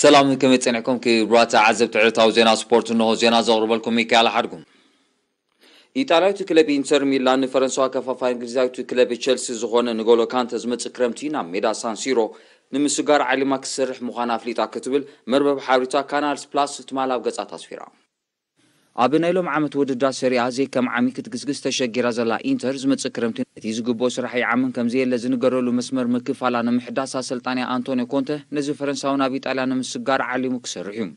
ሰላም፣ ከመይ ጸኒሕኩም ክቡራት ተዓዘብቲ ዕለታዊ ዜና ስፖርት? እንሆ ዜና ዘቕርበልኩም ሚካኤል ሓድጉ። ኢጣልያዊት ክለብ ኢንተር ሚላን ንፈረንሳዊ ኣከፋፋይ እንግሊዛዊት ክለብ ቸልሲ ዝኾነ ንጎሎ ካንተ ዝመጽእ ክረምቲ ናብ ሜዳ ሳንሲሮ ንምስጋር ዓሊማ ክትሰርሕ ምዃና ኣፍሊጣ ክትብል መርበብ ሓበሬታ ካናል ፕላስ ትማል ኣብ ገጻ ኣስፊራ። ኣብ ናይ ሎም ዓመት ውድድር ሰሪኣ ዘይከም ዓሚ ክትግስግስ ተሸጊራ ዘላ ኢንተር ዝመጽእ ክረምቲ ነቲ ዝግብኦ ስራሕ ይዓምን ከም ዘየለ ዝንገረሉ መስመር ምክፋላ ንምሕዳስ ኣሰልጣንያ ኣንቶኒዮ ኮንተ ነዚ ፈረንሳዊ ናብ ኢጣልያ ንምስጋር ዓሊሙ ክሰርሕ እዩ።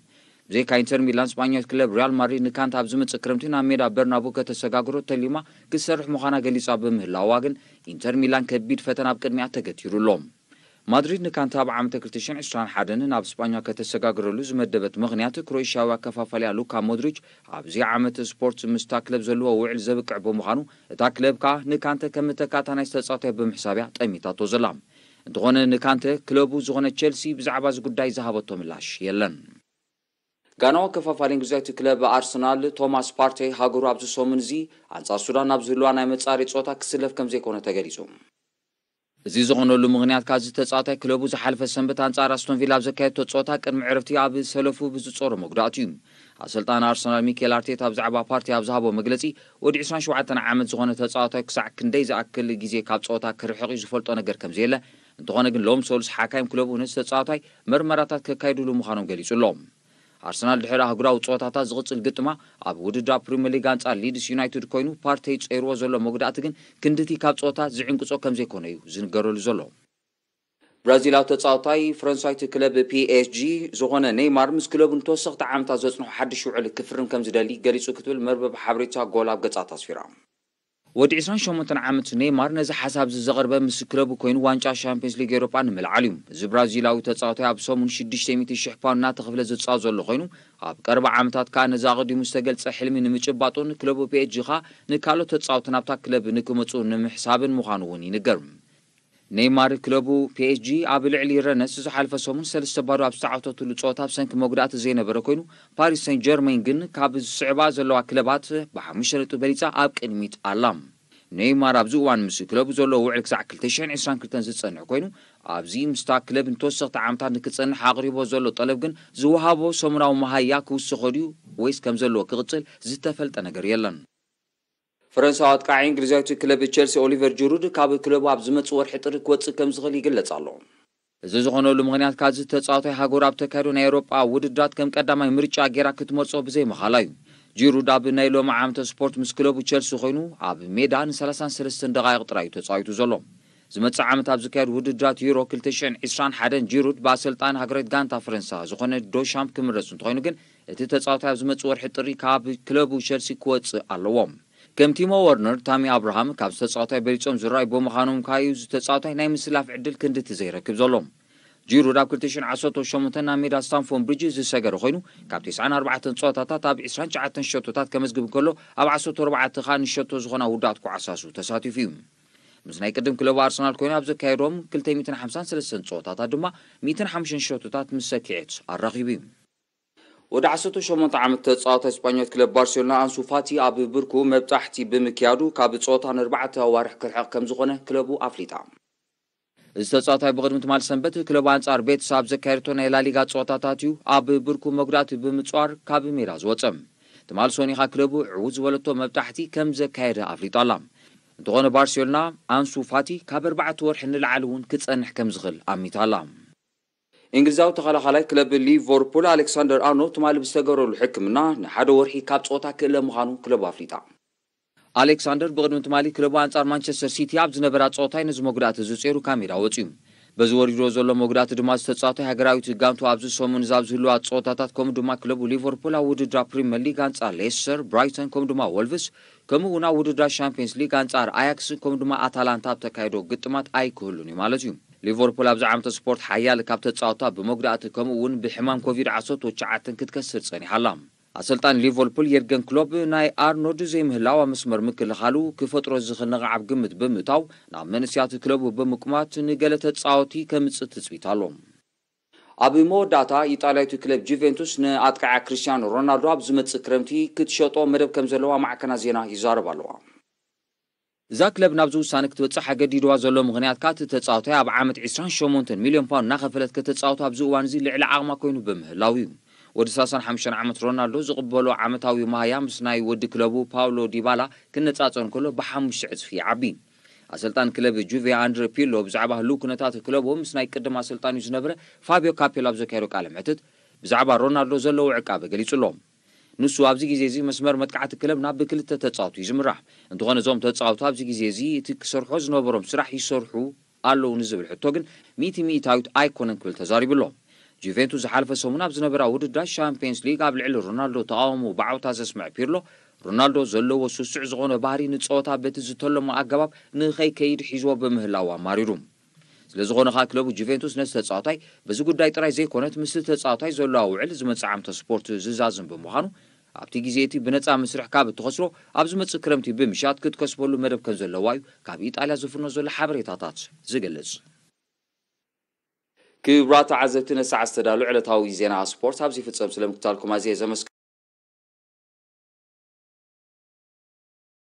ብዘይካ ኢንተር ሚላን፣ ስጳኛዊት ክለብ ሪያል ማድሪድ ንካንታ ኣብ ዝመጽእ ክረምቲ ናብ ሜዳ በርናቡ ከተሰጋግሮ ተሊማ ክትሰርሕ ምዃና ገሊጻ ብምህላዋ ግን ኢንተር ሚላን ከቢድ ፈተና ኣብ ቅድሚኣ ተገቲሩ ኣሎ። ማድሪድ ንካንታ ኣብ ዓመተ ክልተ ሽሕን ዕስራን ሓደን ናብ ስጳኛ ከተሰጋግረሉ ዝመደበት ምኽንያት ክሮኤሽያዊ ኣከፋፋሊኣ ሉካ ሞድሪች ኣብዚ ዓመት ስፖርት ምስታ ክለብ ዘለዎ ውዕል ዘብቅዕ ብምዃኑ እታ ክለብ ከኣ ንካንተ ከም እተካእታ ናይ ዝተጻወተ ብምሕሳብያ ጠሚታቶ ዘላ። እንተኾነ ንካንተ ክለቡ ዝኾነ ቸልሲ ብዛዕባ እዚ ጉዳይ ዝሃበቶ ምላሽ የለን። ጋናዊ ኣከፋፋሊ እንግሊዛዊት ክለብ ኣርሰናል ቶማስ ፓርቴ ሃገሩ ኣብዚ ሰሙን እዚ ኣንጻር ሱዳን ኣብ ዝህልዋ ናይ መጻረይ ጸወታ ክስለፍ ከም ዘይኮነ ተገሊጹ። እዚ ዝኾነሉ ምኽንያት ካዚ ተጻዋታይ ክለቡ ዝሓለፈ ሰንበት ኣንጻር ኣስቶን ቪላ ኣብ ዘካየድቶ ጸወታ ቅድሚ ዕረፍቲ ኣብ ሰለፉ ብዝጾሮ መጉዳእቱ እዩ። ኣሰልጣኒ ኣርሰናል ሚኬል ኣርቴታ ብዛዕባ ፓርቴ ኣብ ዝሃቦ መግለጺ ወዲ ዕስራን ሸውዓተን ዓመት ዝኾነ ተጻዋታይ ክሳዕ ክንደይ ዝኣክል ግዜ ካብ ጸወታ ክርሕቕ እዩ ዝፈልጦ ነገር ከም ዘየለ፣ እንተኾነ ግን ሎም ሰሉስ ሓካይም ክለቡ ነቲ ተጻዋታይ መርመራታት ከካይድሉ ምዃኖም ገሊጹ ኣሎ። ኣርሰናል ድሕሪ ኣህጉራዊ ጸወታታት ዝቕጽል ግጥማ ኣብ ውድድር ፕሪምየር ሊግ ኣንጻር ሊድስ ዩናይትድ ኮይኑ ፓርቴ ጸይርዎ ዘሎ መጉዳእቲ ግን ክንድቲ ካብ ጸወታ ዝዕንቅጾ ከም ዘይኮነ እዩ ዝንገረሉ ዘሎ። ብራዚላዊ ተጻዋታይ ፈረንሳዊት ክለብ ፒኤስጂ ዝኾነ ኔይማር ምስ ክለቡ ንተወሰኽቲ ዓመታት ዘጽንሖ ሓድሽ ውዕል ክፍርም ከም ዝደሊ ገሊጹ ክትብል መርበብ ሓበሬታ ጎል ኣብ ገጻ ኣስፊራ። ወዲ ዕስራን ሸሞንተን ዓመት ኔይማር ነዚ ሓሳብ እዚ ዘቕርበ ምስ ክለቡ ኮይኑ ዋንጫ ሻምፒዮንስ ሊግ ኤውሮጳ ንምልዓል እዩ። እዚ ብራዚላዊ ተጻዋታይ ኣብ ሰሙን ሽዱሽተ ሚእቲ ሽሕ ፓውንድ እናተኸፍለ ዝጻወት ዘሎ ኮይኑ ኣብ ቀረባ ዓመታት ከኣ ነዚ ኣቐዲሙ ዝተገልጸ ሕልሚ ንምጭባጡን ክለቡ ፒኤስጂ ከኣ ንካልኦት ተጻወቲ ናብታ ክለብ ንክመጹ ንምሕሳብን ምዃኑ እውን ይንገር። ኔይማር ክለቡ ፒኤስጂ ኣብ ልዕሊ ረነስ ዝሓለፈ ሰሙን ሰለስተ ባዶ ኣብ ዝተዓወተትሉ ጸወታ ብሰንኪ መጉዳእቲ ዘይነበረ ኮይኑ ፓሪስ ሰን ጀርመን ግን ካብ ዝስዕባ ዘለዋ ክለባት ብሓሙሽተ ነጥቢ በሊጻ ኣብ ቅድሚት ኣላ። ኔይማር ኣብዚ እዋን ምስ ክለቡ ዘሎ ውዕል ክሳዕ ክልተ ሽሕን ዕስራን ክልተን ዝጸንሕ ኮይኑ ኣብዚ ምስታ ክለብ ንተወሰኽቲ ዓመታት ንክጸንሕ ኣቕሪቦ ዘሎ ጠለብ ግን ዝወሃቦ ሰሙናዊ መሃያ ክውስኾ ድዩ ወይስ ከም ዘለዎ ክቕጽል ዝተፈልጠ ነገር የለን። ፈረንሳዊ ኣጥቃዒ እንግሊዛዊት ክለብ ቸልሲ ኦሊቨር ጂሩድ ካብ ክለቡ ኣብ ዝመጽእ ወርሒ ጥሪ ክወጽእ ከም ዝኽእል ይግለጽ ኣሎ። እዚ ዝኾነሉ ምኽንያት ካዚ ተጻዋታይ ሃገሩ ኣብ ተካይዶ ናይ ኤውሮጳ ውድድራት ከም ቀዳማይ ምርጫ ጌራ ክትመርጾ ብዘይምኻላ እዩ። ጂሩድ ኣብ ናይ ሎሚ ዓመተ ስፖርት ምስ ክለቡ ቸልሲ ኮይኑ ኣብ ሜዳ ን ሰላሳን ሰለስተን ደቓይቕ ጥራይ እዩ ተጻዊቱ ዘሎ። ዝመጽእ ዓመት ኣብ ዝካየድ ውድድራት ዩሮ ክልተ ሽሕን ዕስራን ሓደን ጂሩድ ብኣሰልጣኒ ሃገራዊት ጋንታ ፈረንሳ ዝኾነ ዶሻምፕ ክምረጽ እንተኾይኑ ግን እቲ ተጻዋታይ ኣብ ዝመጽእ ወርሒ ጥሪ ካብ ክለቡ ቸልሲ ክወጽእ ኣለዎ። ከም ቲሞ ወርነር፣ ታሚ ኣብርሃም ካብ ተጻዋታይ በሊጾም ዝረኣዩ ብምዃኖም ካዩ እዚ ተጻዋታይ ናይ ምስላፍ ዕድል ክንድቲ ዘይረክብ ዘሎ። ጂሩድ ኣብ ክልተ ሽሕን ዓሰርተ ሸሞንተን ናብ ሜዳ ስታንፎርድ ብሪጅ ዝሰገረ ኮይኑ ካብ ተስዓን ኣርባዕተን ጸወታታት ኣብ ዕስራን ትሽዓተን ሸቶታት ከመዝግብ እንከሎ ኣብ ዓሰርተ ኣርባዕተ ከኣ ንሸቶ ዝኾና ውዳት ኩዓሳሱ ተሳቲፉ እዩ። ምስ ናይ ቅድም ክለቡ ኣርሰናል ኮይኑ ኣብ ዘካየዶም ክልተ ሚእትን ሓምሳን ሰለስተን ጸወታታት ድማ ሚእትን ሓሙሽተን ሸቶታት ምስ ሰኪዔት ኣራኺቡ እዩ። ወዲ ዓሰርተ ሸሞንተ ዓመት ተጻዋታይ ስጳኛዊት ክለብ ባርሴሎና ኣንሱ ፋቲ ኣብ ብርኩ መብጣሕቲ ብምክያዱ ካብ ጸወታ ንኣርባዕተ ኣዋርሕ ክርሕቕ ከም ዝኾነ ክለቡ ኣፍሊጣ። እዚ ተጻዋታይ ብቕድሚ ትማል ሰንበት ክለቡ ኣንጻር ቤትስ ኣብ ዘካየደቶ ናይ ላሊጋ ጸወታታት እዩ ኣብ ብርኩ መጉዳእቲ ብምጽዋር ካብ ሜዳ ዝወጸ። ትማል ሶኒኻ ክለቡ ዕዉት ዝበለቶ መብጣሕቲ ከም ዘካየደ ኣፍሊጣ ኣላ። እንተኾነ ባርሴሎና ኣንሱ ፋቲ ካብ ኣርባዕተ ወርሒ ንላዕሊ እውን ክጸንሕ ከም ዝኽእል ኣሚታ ኣላ። እንግሊዛዊ ተኸላኻላይ ክለብ ሊቨርፑል ኣሌክሳንደር ኣርኖልድ ትማሊ ብዝተገበረሉ ሕክምና ንሓደ ወርሒ ካብ ጸወታ ክእለ ምዃኑ ክለቡ ኣፍሊጣ። ኣሌክሳንደር ብቕድሚ ትማሊ ክለቡ ኣንጻር ማንቸስተር ሲቲ ኣብ ዝነበራ ጸወታይ ነዚ መጉዳእቲ እዚ ጸይሩ ካብ ሜዳ ወጺኡ። በዚ ወሪድዎ ዘሎ መጉዳእቲ ድማ ዝተጻወተ ሃገራዊት ጋንቱ ኣብዚ ሰሙን እዚ ኣብ ዝህልዋ ጸወታታት ከምኡ ድማ ክለቡ ሊቨርፑል ኣብ ውድድር ፕሪምየር ሊግ ኣንጻር ሌስተር፣ ብራይተን ከምኡ ድማ ወልቭስ ከምኡ እውን ኣብ ውድድራት ሻምፒየንስ ሊግ ኣንጻር ኣያክስ ከምኡ ድማ ኣታላንታ ኣብ ተካይዶ ግጥማት ኣይክህሉን እዩ ማለት እዩ። ሊቨርፑል ኣብዚ ዓመተ ስፖርት ሓያል ካብ ተጻወታ ብመጉዳእቲ ከምኡ እውን ብሕማም ኮቪድ ዓሰርተ ትሽዓተ ክትከስር ጸኒሓ ኣላ። ኣሰልጣኒ ሊቨርፑል የርገን ክሎፕ ናይ ኣርኖልድ ዘይምህላው ኣብ መስመር ምክልኻሉ ክፈጥሮ ዝኽእል ነቓዕ ኣብ ግምት ብምእታው ናብ መንእስያት ክለቡ ብምቁማት ንገለ ተጻወቲ ከምጽእ ትጽቢት ኣሎ። ኣብ መወዳእታ ኢጣልያዊት ክለብ ጁቬንቱስ ንኣጥቃዓ ክርስቲያኖ ሮናልዶ ኣብ ዝመጽእ ክረምቲ ክትሸጦ መደብ ከም ዘለዋ ማዕከናት ዜና ይዛረባ ኣለዋ። እዛ ክለብ ናብዚ ውሳነ ክትበጽሕ ኣገዲድዋ ዘሎ ምኽንያት፣ ካቲ ተጻዋታይ ኣብ ዓመት ዕስራን ሸሞንተን ሚልዮን ፓውንድ እናኸፈለት ከተጻወቶ ኣብዚ እዋን እዚ ልዕሊ ዓቕማ ኮይኑ ብምህላው እዩ። ወዲ ሰላሳን ሓሙሽተን ዓመት ሮናልዶ ዝቕበሎ ዓመታዊ መሃያ ምስ ናይ ወዲ ክለቡ ፓውሎ ዲባላ ክነጻጸር እንከሎ ብሓሙሽተ ዕጽፊ ይዓቢ። ኣሰልጣን ክለብ ጁቬ ኣንድረ ፒርሎ ብዛዕባ ህሉው ኩነታት ክለቡ ምስ ናይ ቅድም ኣሰልጣኒኡ ዝነበረ ፋቢዮ ካፔላ ኣብ ዘካየዶ ቃለ መሕትት፣ ብዛዕባ ሮናልዶ ዘለዎ ዕቃበ ገሊጹ ኣሎ። ንሱ ኣብዚ ግዜ እዚ መስመር መጥቃዕቲ ክለብና ብክልተ ተጻወቱ እዩ ዝምራሕ። እንተኾነ እዞም ተጻወቱ ኣብዚ ግዜ እዚ እቲ ክሰርሖ ዝነበሮም ስራሕ ይሰርሑ ኣለዉ ንዝብል ሕቶ ግን ሚእቲ ሚእታዊት ኣይኮነን ክብል ተዛሪቡ ኣሎ። ጁቬንቱስ ዝሓለፈ ሰሙን ኣብ ዝነበራ ውድድራት ሻምፒየንስ ሊግ ኣብ ልዕሊ ሮናልዶ ተቓውሞ ብዓውታ ዘስምዐ ፒርሎ፣ ሮናልዶ ዘለዎ ስሱዕ ዝኾነ ባህሪ ንጸወታ በቲ ዝተለሞ ኣገባብ ንኸይከይድ ሒዝዎ ብምህላው ኣማሪሩ። ስለ ዝኾነ ኸኣ ክለቡ ጁቬንቱስ ነቲ ተጻዋታይ በዚ ጉዳይ ጥራይ ዘይኮነት ምስቲ ተጻዋታይ ዘለዋ ውዕል ዝመጽእ ዓመተ ስፖርት ዝዛዝም ብምዃኑ ኣብቲ ግዜ እቲ ብነጻ መስርሕ ካብ እትኸስሮ ኣብ ዝመጽእ ክረምቲ ብምሻጥ ክትከስበሉ መደብ ከም ዘለዋ እዩ ካብ ኢጣልያ ዝፍኖ ዘሎ ሓበሬታታት ዝገልጽ። ክቡራት ተዓዘብቲ ነሳዕ ዝተዳሉ ዕለታዊ ዜና ስፖርት ኣብዚ ፍጸም ስለምክታልኩም ኣዝየ ዘመስግን።